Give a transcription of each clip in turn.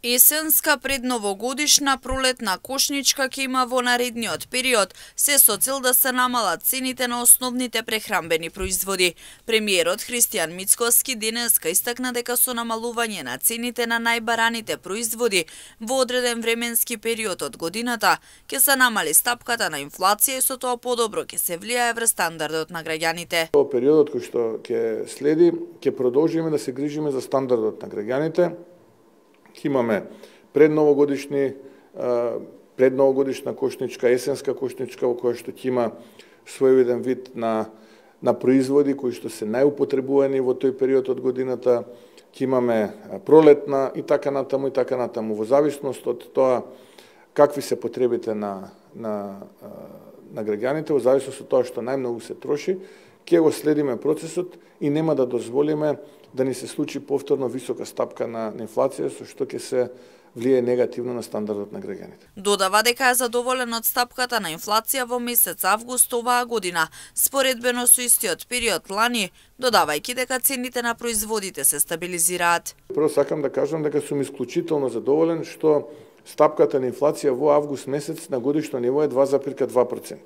Есенска, предновогодишна, пролетна кошничка ќе има во наредниот период, се со цел да се намалат цените на основните прехранбени производи. Премиерот Христијан Мицкоски денеска истакна дека со намалување на цените на најбараните производи во одреден временски период од годината ќе се намали стапката на инфлација и со тоа подобро ќе се влијае врз стандардот на граѓаните. Во периодот кој што ќе следи, ќе продолжиме да се грижиме за стандардот на граѓаните. Имаме предновогодишна кошничка, есенска кошничка, во која што ќе има своевиден вид на производи кои што се најупотребувани во тој период од годината. Ќе имаме пролетна и така натаму. Во зависност од тоа какви се потребите на граѓаните, во зависност од тоа што најмногу се троши, ќе го следиме процесот и нема да дозволиме да ни се случи повторно висока стапка на инфлација, со што ќе се влијае негативно на стандардот на граѓаните. Додава дека е задоволен од стапката на инфлација во месец август оваа година, споредбено со истиот период лани, додавајќи дека цените на производите се стабилизираат. Прво сакам да кажам дека сум исклучително задоволен што стапката на инфлација во август месец на годишно ниво е 2,2%.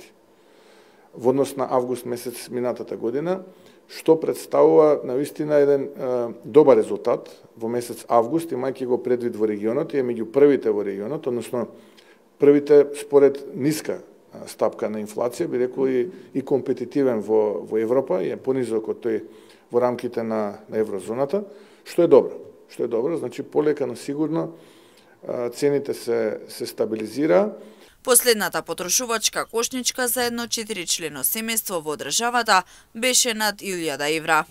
Во однос на август месец минатата година, што представува навистина еден добар резултат во месец август, имајќи го предвид во регионот и е меѓу првите во регионот, односно првите според ниска стапка на инфлација, би рекол и компетитивен во Европа, и е понизок од тој во рамките на еврозоната, што е добро. Што е добро, значи полека, но сигурно цените се стабилизира. Последната потрошувачка кошничка за едно 4-члено семејство во државата беше над 1000 евра.